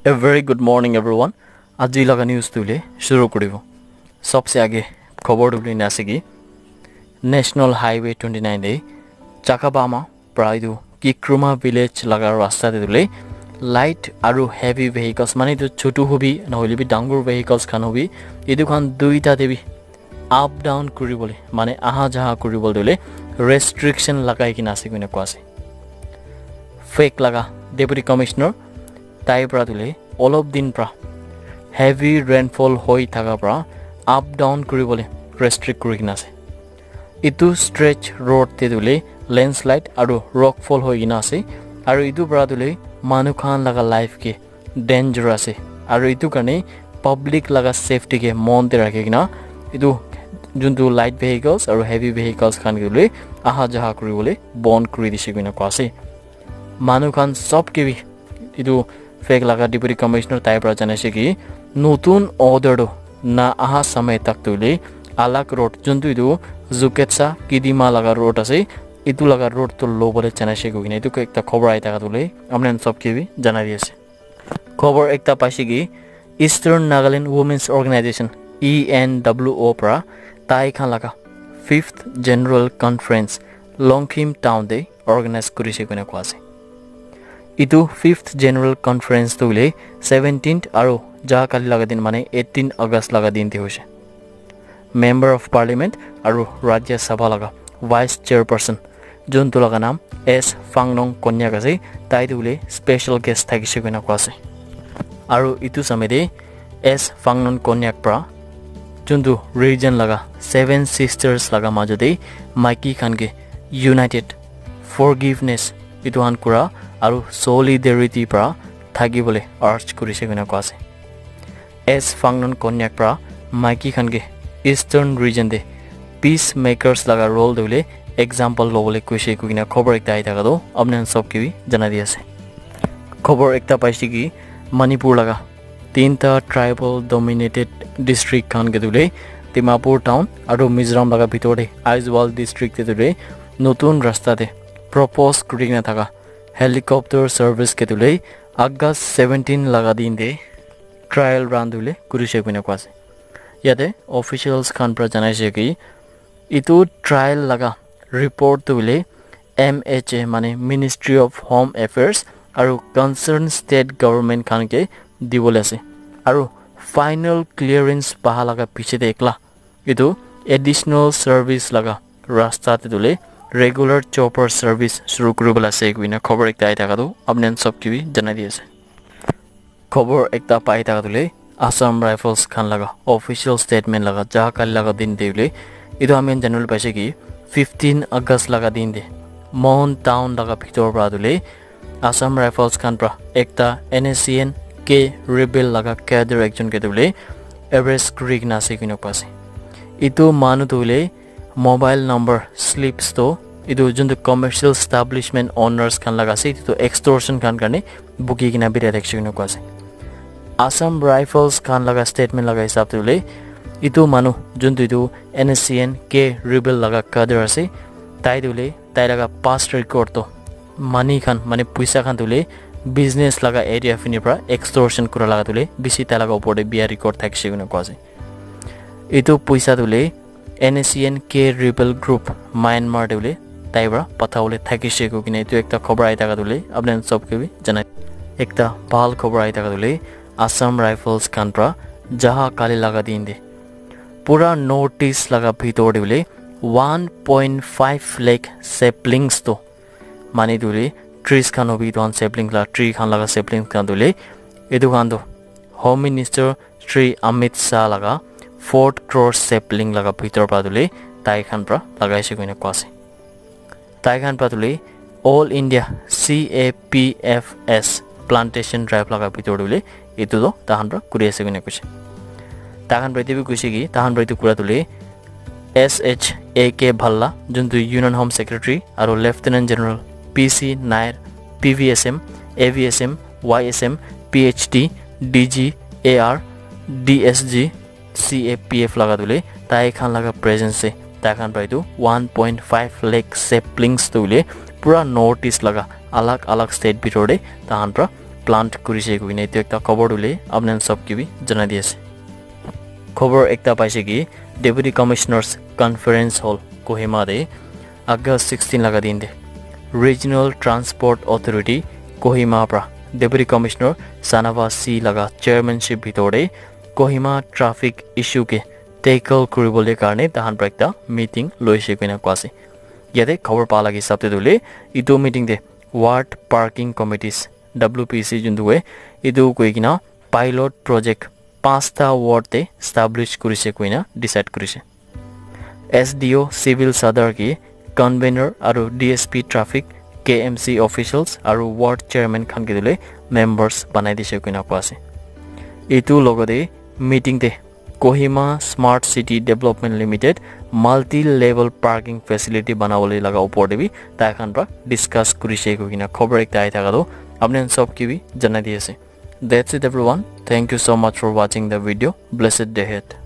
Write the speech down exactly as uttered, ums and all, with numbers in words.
A very good morning, everyone. Aji laga news tu le shuru kuribo. Sabse aage khobor tu le na ase ki National Highway twenty nine de Chakabama pra etu Kikruma village laga rasta te tu le light aru heavy vehicles, mane etu chotu hobi, nohole bi dangur vehicles khan hobi, etu khan duita te bi up down kuribole, mane aha jaha kuribole tu le restriction lagai kena ase koina koa ase. Phek laga Deputy Commissioner tai pra tu le olop din pra heavy rainfall hoi thaka pra up down kuribole restrict kuri kena ase. Etu stretch road te tu le landslide aru rockfall hoi kena ase, aru etu pra tu le manu khan laga life ke danger ase, aru etu karne public laga safety ke mon te rakhi kena etu juntu light vehicles aru heavy vehicles khan ke tu le aha jaha kuribole bon kuri dise koina koa ase. Manu khan sob ke bi etu Phek laga Deputy Commissioner tai pra janaise ki notun order tu na aha samay tak tu le alag road juntu etu Zuketsa Kidima laga road ase, etu laga road tu lobole janaise koina etu ekta khobor ahi thaka tu le apni khan sob ke bi janai di ase. Khobor ekta paise ki Eastern Nagaland Women's Organization, E N W O pra tai khan laga fifth General Conference Longkhim Town te organize kurise koina koa ase. Etu fifth General Conference tu hoile seventeenth aru ja kali laga din, mane eighteen August laga din te hoise. Member of Parliament aru Rajya Sabha laga Vice Chairperson, juntu laga naam S Fangnong Konyak ase, tai tu hoile special guest thakise koina koa ase. Aru etu samay te S Fangnong Konyak pra juntu region laga Seven Sisters laga majo te maiki khan ke united, forgiveness, etu khan kura aru solidarity pra thaki bole urge kurise koina koa ase. S Fangnong Konyak pra maiki khan ke Eastern region te peacemakers laga role tu hoile example lobole koise koina khobor ekta ahi thaka tu apni khan sob ke bi janai di ase. Khobor ekta paise ki Manipur laga tinta tribal dominated district khan ke tu hoile Dimapur town aru Mizoram laga bitor te Aizawl district te tu hoile notun rasta te propose kuri kena thaka helicopter service ke tu hoile August seventeen laga din te trial run tu hoile kurise koina koa ase. Yate officials khan pra janaise ki etu trial laga report tu hoile M H A, mane Ministry of Home Affairs aru concerned state government khan ke dibole ase, aru final clearance paha laga piche te ekla etu additional service laga rasta te tu hoile regular chopper service shuru kuribole ase koina khobor ekta ahi thaka tu apni khan sob ke bi janai di ase. Khobor ekta pai thaka tu hoile Assam Rifles khan laga official statement laga ja kali laga din te hoile etu ami khan janibole paise ki fifteen August laga din te Mon town laga bitor pra tu hoile Assam Rifles khan pra ekta N S C N K rebel laga cadre ekjon ke tu hoile arrest kuri kena ase koina koa ase. Etu manu tu hoile mobile number slips to etu juntu commercial establishment owners khan laga ase, etu tu extortion khan karne buki kena birai thakishe koina koa ase. Assam Rifles khan laga statement laga hisab te hoile etu manu juntu etu N S C N K rebel laga cadre ase, tai tu hoile tai laga past record to money khan, mane puisa khan tu hoile business laga area fini pra extortion kura laga tu hoile bishi tai laga upor te biya record thakishe koina koa ase. Etu puisa tu hoile N S C N K rebel group Myanmar te hoile tai pra patha bole thakishe koi kena etu ekta khobor ahi thaka tu hoile apni khan sob ke bi janai. Ekta bhal khobor ahi thaka tu hoile Assam Rifles khan pra jaha kali laga din te pura North East laga bitor te hoile one point five lakh saplings to mane tu hoile trees khan hobi etu khan sapling la tree khan laga saplings khan tu hoile etu khan tu Home Minister Shri Amit Shah laga four crore sapling laga bitor pra tu hoile tai khan pra lagaishe koina koa ase. Tai khan pra tu hoile All India C A P F S plantation drive laga bitor tu hoile etu tu tai khan pra kuri ase koina koise. Tai khan pra etu bi koise ki tai khan pra etu kura tu hoile S H A K Bhalla, juntu Union Home Secretary, aru Lieutenant General P C Nair, P V S M, A V S M, Y S M, P H D, D G, A R, D S G, C A P F laga tu hoile tai khan laga presence te tai khan pra etu one point five lakh saplings tu hoile pura North East laga alag alag state bitor te tai khan pra plant kurise koina etu ekta khobor tu le apni khan sob ke bi janai di ase. Khobor ekta paise ki Deputy Commissioners Conference Hall Kohima te August sixteen laga din te Regional Transport Authority Kohima pra Deputy Commissioner Sanava C laga chairmanship bhitor te Kohima traffic issue ke tackle kuribole karne tahan pra ekta meeting loise koina koa ase. Yate khobor pa lagi hisab te tu le etu meeting te ward parking committees, W P C juntu koi, etu koi kina pilot project pasta ward te establish kurise koina decide kurise. S D O Civil Sadar ki convener aru D S P traffic, K M C officials aru ward chairman khan ke tu le members banai dise koina koa ase. Etu logote meeting te Kohima Smart City Development Limited multi level parking facility banabole laga upor te bi tai khan pra discuss kurise koi kina khobor ekta ahi thaka tu apni khan sob ke bi janai di ase. That's it everyone. Thank you so much for watching the video. Blessed day ahead.